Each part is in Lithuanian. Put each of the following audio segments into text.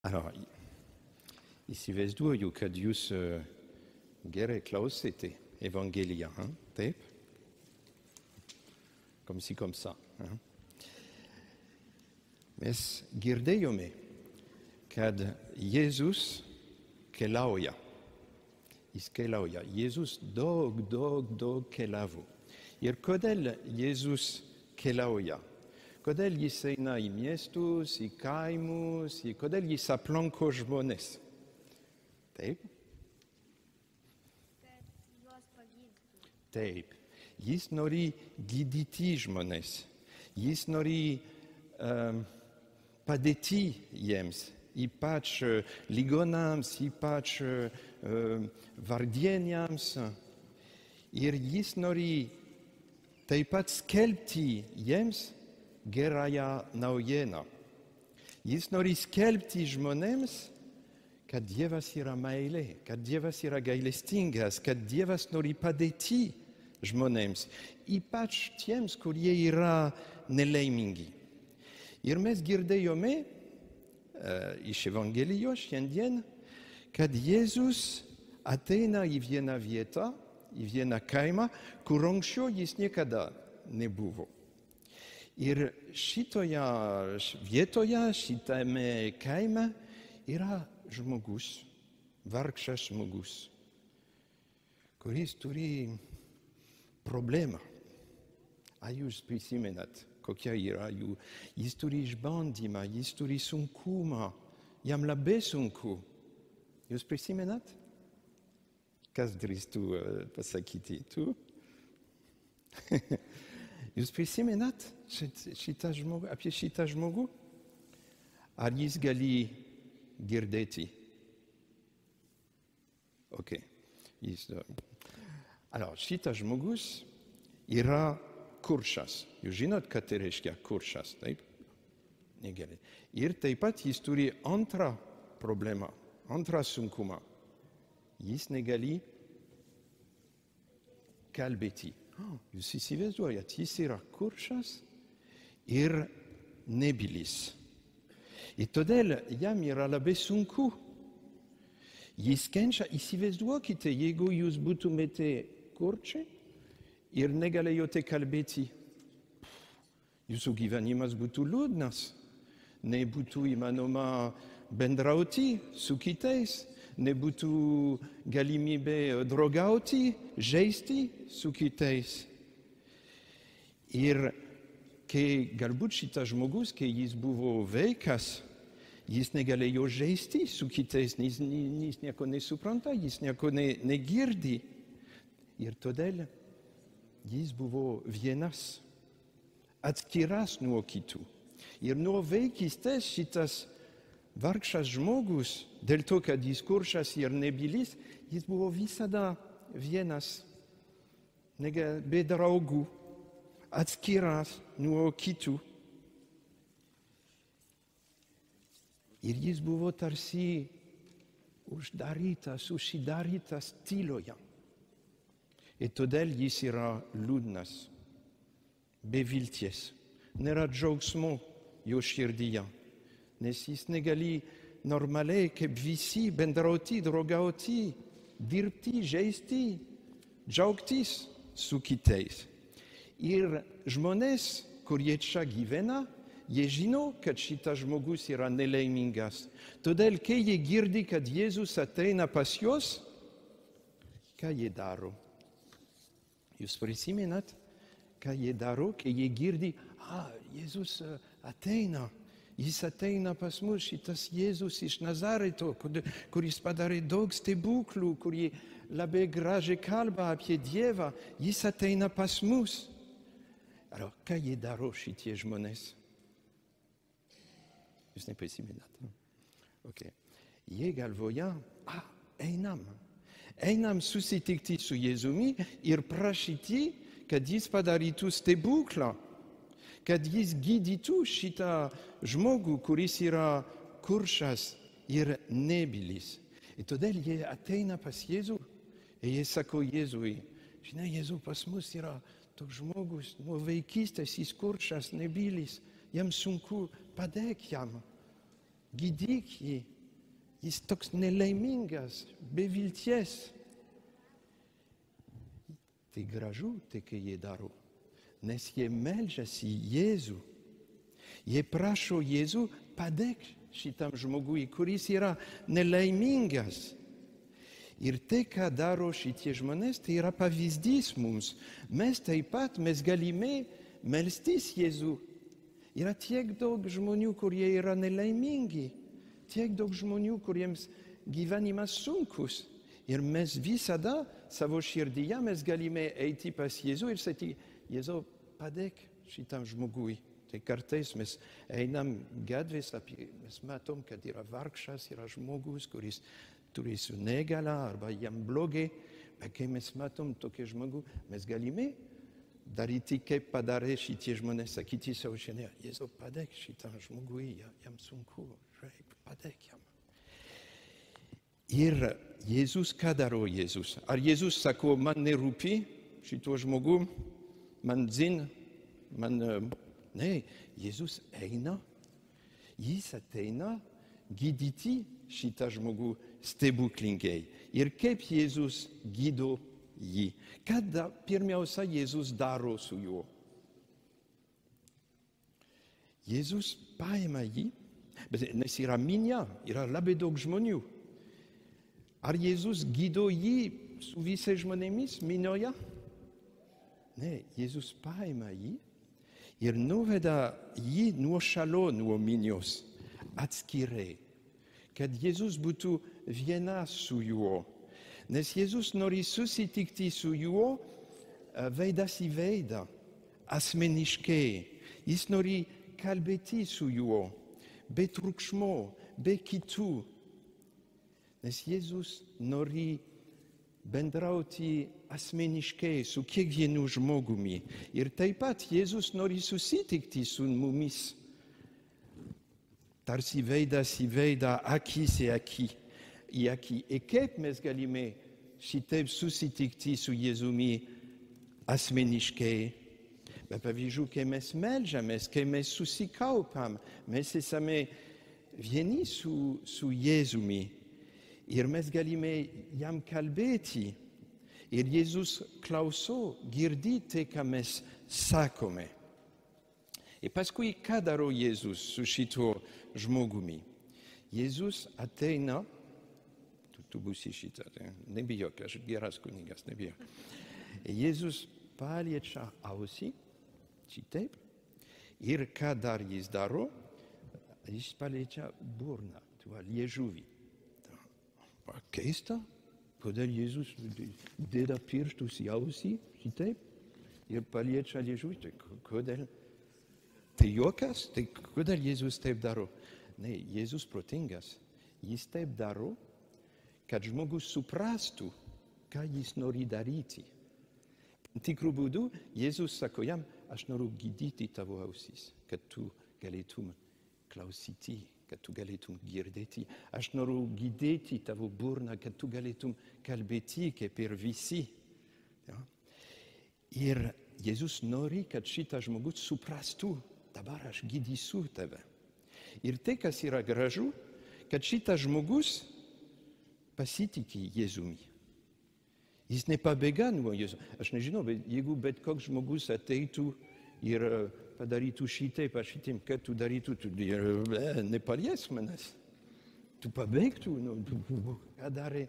Alors, įsivaizduoju, kad jūs gerai klausėte Evangeliją, taip? Comme ci, comme ça. Mes girdėjome, kad Jėzus keliauja. Jis keliauja. Jėzus daug keliavo. Ir kodėl Jėzus keliauja? Kodėl jis eina į miestus, į kaimus, kodėl jis aplanko žmonės? Taip? Kad juos pagydytų. Taip. Jis nori gydyti žmonės. Jis nori padėti jiems, ypač ligonams, ypač vargdieniams. Ir jis nori taip pat skelbti jiems gerąją naujieną. Jis nori skelbti žmonėms, kad Dievas yra meilė, kad Dievas yra gailestingas, kad Dievas nori padėti žmonėms, ypač tiems, kurie yra nelaimingi. Ir mes girdėjome iš Evangelijos šiandien, kad Jėzus ateina į vieną vietą, į vieną kaimą, kur anksčiau jis niekada nebuvo. Ir šitoje vietoje, šitame kaime yra žmogus, vargšas žmogus, kuris turi problemą. Ar jūs prisimenat, kokia yra jų? Jis turi išbandymą, jis turi sunkumą, jam labai sunku. Jūs prisimenat? Kas drįstų pasakyti? Tu? Jūs prisimenat apie šitą žmogų? Ar jis gali girdėti? Ok. Alors, šitas žmogus yra kurčas. Jūs žinot, ką tai reiškia kurčas, taip? Negerai. Ir taip pat jis turi antrą problemą, antrą sunkumą. Jis negali kalbėti. Jūs įsivaizduojat, jis yra kurčas ir nebylis. Ir todėl jam yra labai sunku. Jis kenčia, įsivaizduokite, jeigu jūs būtumėte kurčiai ir negalėjote kalbėti. Jūsų gyvenimas būtų liūdnas, nebūtų įmanoma bendrauti su kitais, nebūtų galimybė draugauti, žaisti su kitais. Ir kai galbūt šitas žmogus, kai jis buvo vaikas, jis negalėjo žaisti su kitais, jis nieko nesupranta, jis nieko negirdi. Ir todėl jis buvo vienas, atskiras nuo kitų. Ir nuo vaikystės šitas vargšas žmogus, dėl to, kad jis kurčas ir nebylis, jis buvo visada vienas, be draugų, atskiras nuo kitų. Ir jis buvo tarsi užsidarytas tyloje. Ir todėl jis yra liūdnas, be vilties. Nėra džiaugsmo jo širdyje, nes jis negali normaliai kaip visi bendrauti, draugauti, dirbti, žaisti, džiaugtis su kitais. Ir žmonės, kurie čia gyvena, jie žino, kad šitas žmogus yra nelaimingas. Todėl, kai jie girdi, kad Jėzus ateina pas juos, ką jie daro? Jūs prisimenat, ką jie daro, kai jie girdi, Jėzus ateina. Jis ateina pas mus, šitas Jėzus iš Nazareto, kuris padarė daug stebuklų, kurie labai gražiai kalba apie Dievą. Jis ateina pas mus. Alors, ką jie daro šitie žmonės? Jūs neprisimenat. Okay. Jie galvoja, einam susitikti su Jėzumi ir prašyti, kad jis padarytų stebuklą, kad jis gydytų šitą žmogų, kuris yra kurčas ir nebylis. Ir todėl jie ateina pas Jėzų ir jie sako Jėzui, žinai, Jėzau, pas mus yra toks žmogus, nuo vaikystės jis kurčas, nebylis, jam sunku, padėk jam, gydyk jį. jis toks nelaimingas, be vilties. Tai gražu, tai kai jie daro, nes jie meldžiasi Jėzų. Jie prašo Jėzų padėk šitam žmogui, kuris yra nelaimingas. Ir tai, ką daro šitie žmonės, tai yra pavyzdys mums. Mes taip pat, mes galime melstis Jėzų. Yra tiek daug žmonių, kurie yra nelaimingi, tiek daug žmonių, kuriems gyvenimas sunkus. Ir mes visada savo širdyje mes galime eiti pas Jėzų ir sakyti, Jėzau, padėk šitam žmogui. Tai kartais mes einam gatvės, mes matom, kad yra vargšas, yra žmogus, kuris turi su negala arba jam blogai, bet kai mes matom tokį žmogų, mes galime daryti, kaip padarė šitie žmonės, sakyti savo šiandien, Jėzau, padėk šitam žmogui, jam sunku, padėk jam. Ir Jėzus, ką daro Jėzus? Ar Jėzus sako, man nerūpi šito žmogų, man zin, ne, Jėzus eina, jis ateina gydyti šitą žmogų stebuklingai. Ir kaip Jėzus gydo jį? Kada pirmiausia Jėzus daro su juo? Jėzus paima jį, nes yra minia, yra labai daug žmonių. Ar Jėzus gydo jį su visais žmonėmis minioje? Ne, Jėzus paima jį ir nuveda jį nuo šalo, nuo minios, atskirai, kad Jėzus būtų vienas su juo. Nes Jėzus nori susitikti su juo veidas į veidą, asmeniškai. Jis nori kalbėti su juo, be triukšmo, be kitų. Nes Jėzus nori bendrauti asmeniškai su kiekvienu žmogumi. Ir taip pat Jėzus nori susitikti su mumis. Tarsi veidas į veidą, akis į akį. Ir kaip mes galime šitaip susitikti su Jėzumi asmeniškai? Bet pavyzdžiui, kai mes meldžiamės, kai mes susikaupam, mes esame vieni su Jėzumi. Ir mes galime jam kalbėti. Ir Jėzus klauso, girdi tai, ką mes sakome. Ir paskui, ką daro Jėzus su šito žmogumi? Jėzus ateina, tu būsi šitą, nebijok, aš geras kunigas, nebijok. Jėzus paliečia ausį, šitaip, ir ką dar jis daro? Jis paliečia burną, liežuvį. Keista, kodėl Jėzus deda pirštus į ausį, šitaip, ir paliečia liežuvį, tai kodėl? Tai juokas, tai kodėl Jėzus taip daro? Ne, Jėzus protingas, jis taip daro, kad žmogus suprastų, ką jis nori daryti. Tikrų būdų, Jėzus sako jam, aš noriu gydyti tavo ausis, kad tu galėtum klausyti, kad tu galėtum girdėti. Aš noriu gydyti tavo burną, kad tu galėtum kalbėti kaip ir visi. Ja? Ir Jėzus nori, kad šitas žmogus suprastų, dabar aš gydysiu tave. Ir tai, kas yra gražu, kad šitas žmogus pasitiki Jėzumi. Jis nepabėga nuo Jėzų. Aš nežinau, bet jeigu bet koks žmogus ateitų ir padarytų šitaip, aš šitaip, kad tu darytų, tu nepaliesk manęs. Tu pabėgtų, ką darė.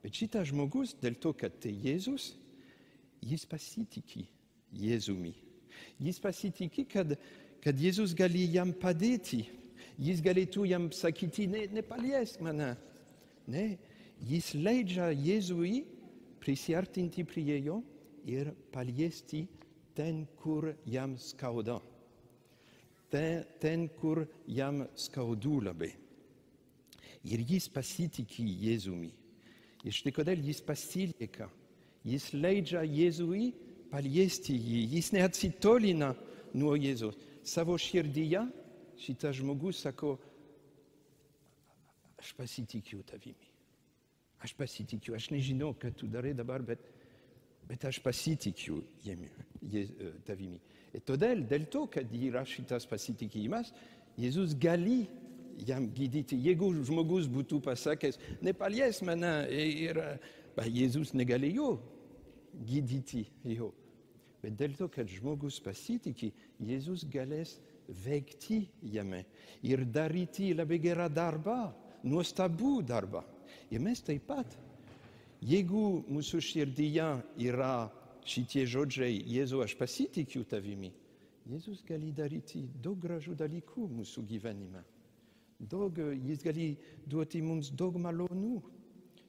Bet šitas žmogus, dėl to, kad tai Jėzus, jis pasitiki Jėzumi. Jis pasitiki, kad Jėzus gali jam padėti. Jis galėtų jam sakyti, nepaliesk mane. Ne, jis leidžia Jėzui prisiartinti prie jo ir paliesti ten, kur jam skauda. Ten, kur jam skaudu labai. Ir jis pasitiki Jėzumi. Ir štai kodėl jis pasilieka. Jis leidžia Jėzui paliesti jį. Jis neatsitolina nuo Jėzus. Savo širdyje šitas žmogus sako, aš pasitikiu tavimi. Aš pasitikiu. Aš nežinau, ką tu darai dabar, bet aš pasitikiu tavimi. Ir todėl, dėl to, kad yra šitas pasitikimas, Jėzus gali jam gydyti. Jeigu žmogus būtų pasakęs, nepalies mane ir Jėzus negalėjo gydyti jo. Bet dėl to, kad žmogus pasitikė, Jėzus galės veikti jame ir daryti labai gerą darbą, nuostabų darbą. Ir mes taip pat, jeigu mūsų širdyje yra šitie žodžiai, Jėzau, aš pasitikiu tavimi, Jėzus gali daryti daug gražių dalykų mūsų gyvenime. Jis gali duoti mums daug malonų.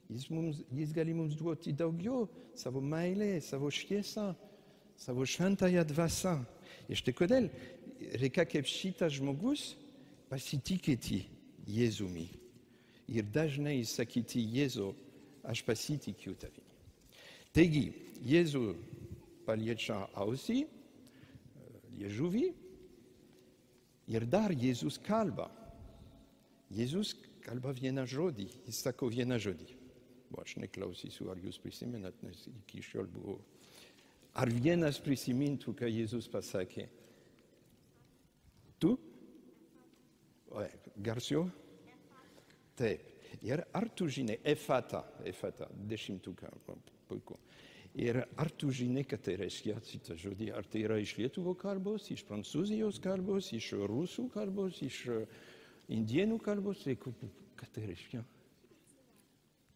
Jis gali mums duoti daugiau savo meilę, savo šviesą, savo šventąją dvasią. Ir štai kodėl reikia kaip šitas žmogus pasitikėti Jėzumi. Ir dažnai sakyti, Jėzau, aš pasitikiu tavimi. Taigi, Jėzų paliečia ausį, liežuvį ir dar Jėzus kalba. Jėzus kalba vieną žodį, jis sako vieną žodį. Aš neklausysiu, ar jūs prisimenat, nes iki šiol buvo. Ar vienas prisimintų, ką Jėzus pasakė? Tu? Garsiau? Taip. Ir ar tu žinai, efata, dešimtuką, puiku. Ir ar tu žinai, ką tai reiškia šitą žodį? Ar tai yra iš lietuvių kalbos, iš prancūzijos kalbos, iš rusų kalbos, iš indėnų kalbos? Ką tai reiškia?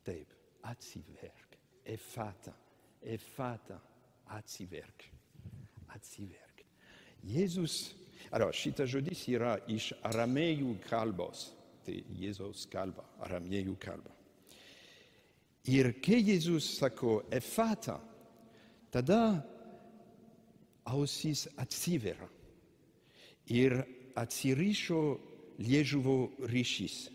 Taip, atsiverk. Efata, atsiverk. Jėzus, šitas žodis yra iš aramėjų kalbos. Tai Jėzaus kalba, aramėjų kalba. Ir kai Jėzus sako efata, tada ausis atsiveria ir atsirišo liežuvio ryšys.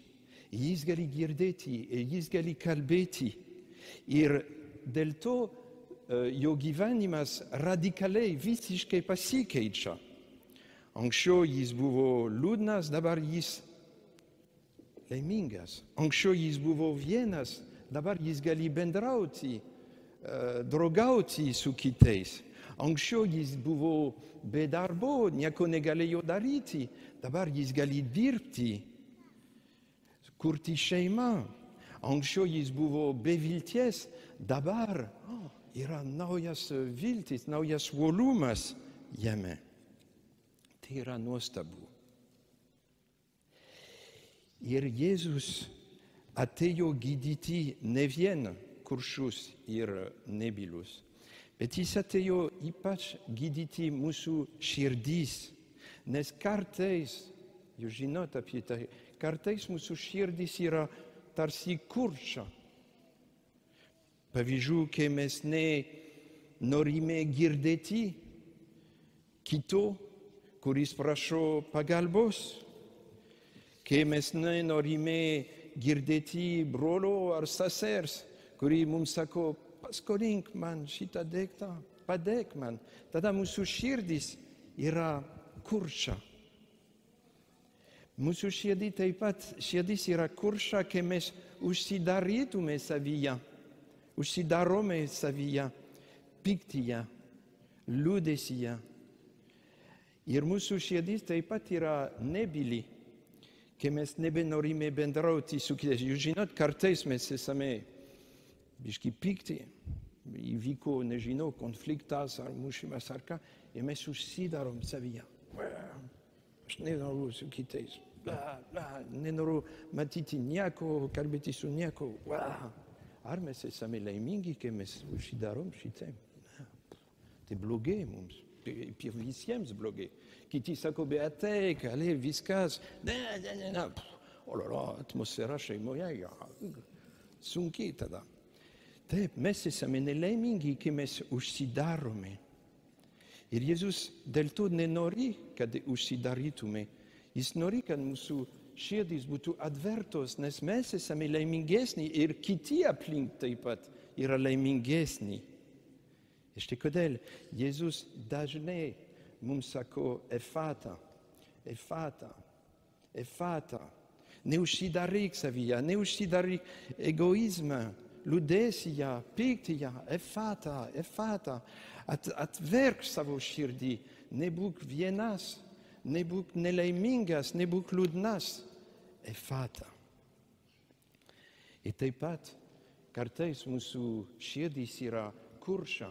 Jis gali girdėti, jis gali kalbėti ir dėl to jo gyvenimas radikaliai visiškai pasikeičia. Anksčiau jis buvo liūdnas, dabar jis laimingas. Anksčiau jis buvo vienas, dabar jis gali bendrauti, draugauti su kitais. Anksčiau jis buvo be darbo, nieko negalėjo daryti, dabar jis gali dirbti, kurti šeimą. Anksčiau jis buvo be vilties, dabar yra naujas viltis, naujas uolumas jame. Tai yra nuostabu. Ir Jėzus atėjo gydyti ne vien kurčius ir nebylius, bet jis atėjo ypač gydyti mūsų širdis, nes kartais, jūs žinot apie tai, kartais mūsų širdis yra tarsi kurčia. Pavyzdžiui, kai mes nenorime girdėti kito, kuris prašo pagalbos, kai mes nenorime girdėti brolio ar sesers, kuri mums sako, paskolink man šitą daiktą, padėk man. Tada mūsų širdis yra kurčia. Mūsų širdis yra kurčia, kai mes užsidarytume savyje, užsidarome savyje, piktyje, liūdesyje. Ir mūsų širdis taip pat yra nebyli, kai mes nebenorime bendrauti su kitais. Jūs žinot, kartais mes esame biški pikti, įvyko, nežinau, konfliktas ar mušimas ar ką, ir mes užsidarom savyje. Aš nenoriu su kitais, nenoriu matyti nieko, kalbėti su nieko. Ar mes esame laimingi, kai mes užsidarom šitaip? Tai blogai mums. Ir visiems blogai. Kiti sako, bet ateik, allez, viskas. Atmosfera šeimoje, sunkiai tada. Taip, mes esame nelaimingi, kai mes užsidarome. Ir Jėzus dėl to nenori, kad užsidarytume. Jis nori, kad mūsų širdis būtų atvertos, nes mes esame laimingesni ir kiti aplink taip pat yra laimingesni. Ir štai kodėl Jėzus dažnai mums sako efata. Neužsidaryk savyje, neužsidaryk egoizmą, liūdėsyje, piktyje, efata. Atverk savo širdį, nebūk vienas, nebūk nelaimingas, nebūk liūdnas. efata. Ir taip pat kartais mūsų širdis yra kurša,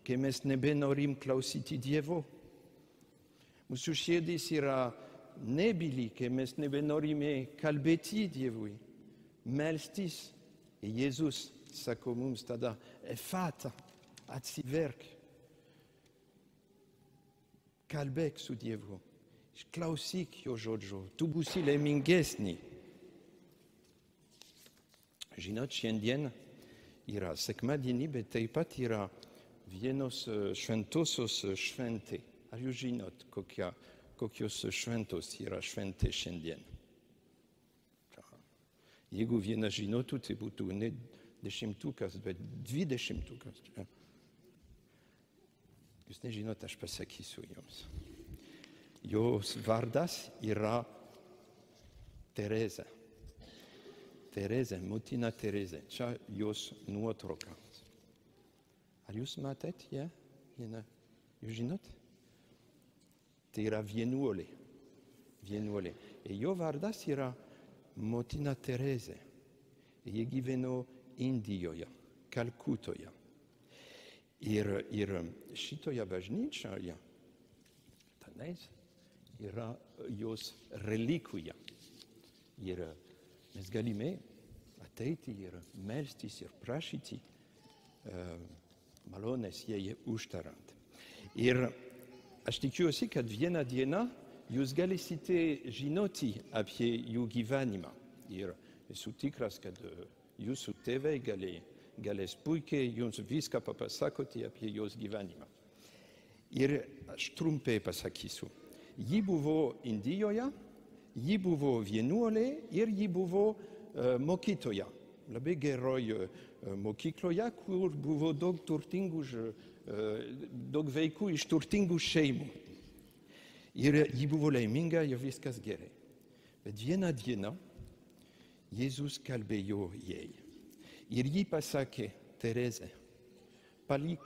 kai mes nebenorim klausyti Dievo. Mūsų širdis yra nebyli, kai mes nebenorime kalbėti Dievui, melstis. Ir Jėzus sako mums tada, efata, atsiverk, kalbėk su Dievu, klausyk jo žodžio, tu būsi laimingesni. Žinot, šiandien yra sekmadienį, bet taip pat yra vienos šventosios šventė. Ar jūs žinot, kokios šventos yra šventė šiandien? Jeigu vienas žinotų, tai būtų ne 10, bet 20. Jūs nežinot, aš pasakysiu jums. Jos vardas yra Tereza. Tereza, motina Tereza. Čia jos nuotrauka. Ar jūs matėt ją? Jūs žinot? Tai yra vienuolė. Ir jo vardas yra motina Tereza. Jie gyveno Indijoje, Kalkutoje. Ir šitoje bažnyčioje tenais yra jos relikvija. Ir mes galime ateiti ir melstis ir prašyti malonės jai užtarant. Ir aš tikiuosi, kad vieną dieną jūs galėsite žinoti apie jų gyvenimą. Ir esu tikras, kad jūsų tėvai galės puikiai jums viską papasakoti apie jos gyvenimą. Ir aš trumpai pasakysiu. Ji buvo Indijoje, ji buvo vienuolė ir ji buvo mokytoja. Labai geroj mokykloje, kur buvo daug vaikų iš turtingų šeimų. Ir ji buvo laiminga ir viskas gerai. Bet vieną dieną Jėzus kalbėjo jai. Ir ji pasakė, Tereza, palik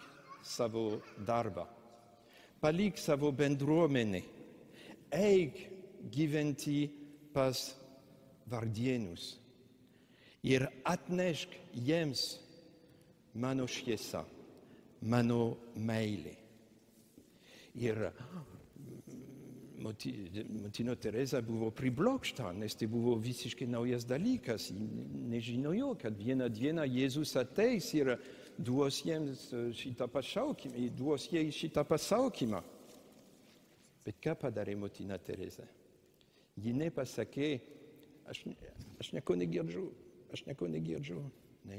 savo darbą, palik savo bendruomenę, eik gyventi pas vargdienius ir atnešk jiems mano šviesą, mano meilę. Ir motina Tereza buvo priblokšta, nes tai buvo visiškai naujas dalykas. Nežinojo, kad vieną dieną Jėzus ateis ir duos jiems šitą pašaukimą, duos jai šitą pasaukimą. Bet ką padarė motina Tereza? Ji nepasakė, aš nieko negirdžiu. Ne,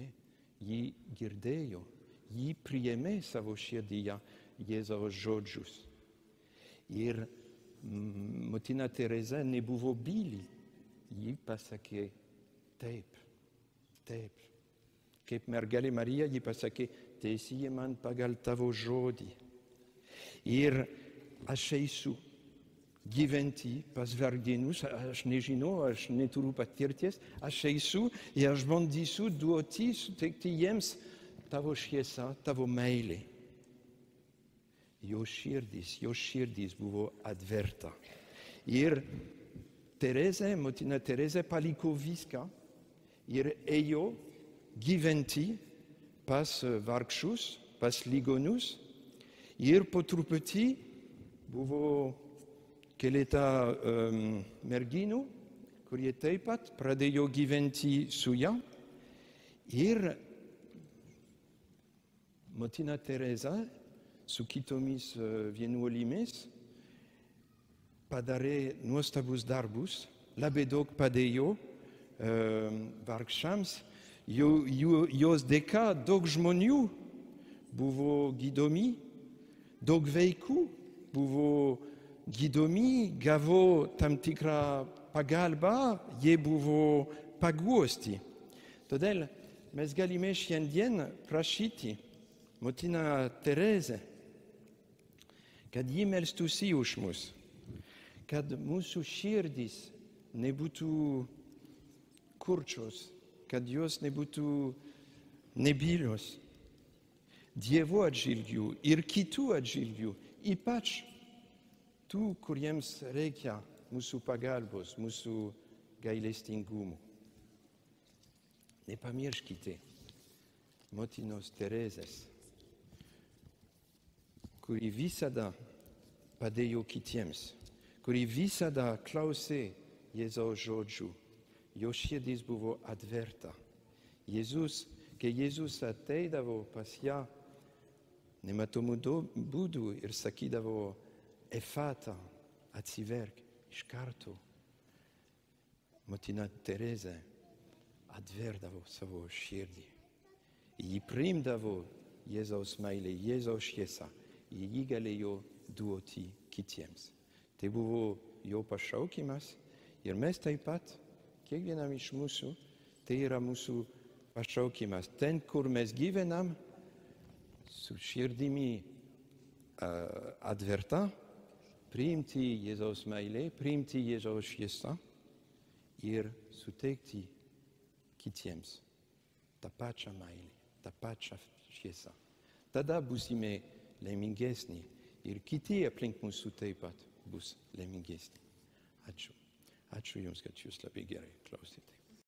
ji girdėjo, ji priėmė savo širdyje Jėzaus žodžius. Ir motina Tereza nebuvo byli. Ji pasakė taip. Kaip mergelė Marija, ji pasakė, teesie man pagal tavo žodį. Ir aš eisiu gyventi pas vargdienius, aš nežinau, aš neturiu patirties, aš eisiu ir aš bandysiu duoti, suteikti jiems tavo šviesą, tavo meilę. Jo širdis buvo atverta. Ir motina Tereza paliko viską ir ėjo gyventi pas vargšus, pas ligonius. Ir po truputį buvo keletą merginų, kurie taip pat pradėjo gyventi su ją. Ir motina Tereza su kitomis vienuolėmis padarė nuostabus darbus, labai daug padėjo vargšams. Jos dėka daug žmonių buvo gydomi, daug vaikų buvo gydomi, gavo tam tikrą pagalbą, jie buvo paguosti. Todėl mes galime šiandien prašyti motina Tereza, kad ji melstųsi už mus, kad mūsų širdis nebūtų kurčios, kad jos nebūtų nebylios Dievo atžvilgiu ir kitų atžvilgiu, ypač tų, kuriems reikia mūsų pagalbos, mūsų gailestingumo. Nepamirškite motinos Teresės, kuri visada padėjo kitiems, kuri visada klausė Jėzaus žodžių. Jo širdis buvo atverta. Kai Jėzus ateidavo pas ją nematomų būdų ir sakydavo Efata, atsiverk, iš karto motina Teresė atverdavo savo širdį. Ji priimdavo Jėzaus meilę, Jėzaus šviesą. Ji galėjo duoti kitiems. Tai buvo jo pašaukimas ir mes taip pat, kiekvienam iš mūsų, tai yra mūsų pašaukimas. Ten, kur mes gyvenam, su širdimi atverta, priimti Jėzaus meilę, priimti Jėzaus šviesą ir suteikti kitiems tą pačią meilę, tą pačią šviesą. Tada būsime laimingesni ir kiti aplink mūsų taip pat bus laimingesni. Ačiū. Ačiū Jums, kad Jūs labai gerai klausėte.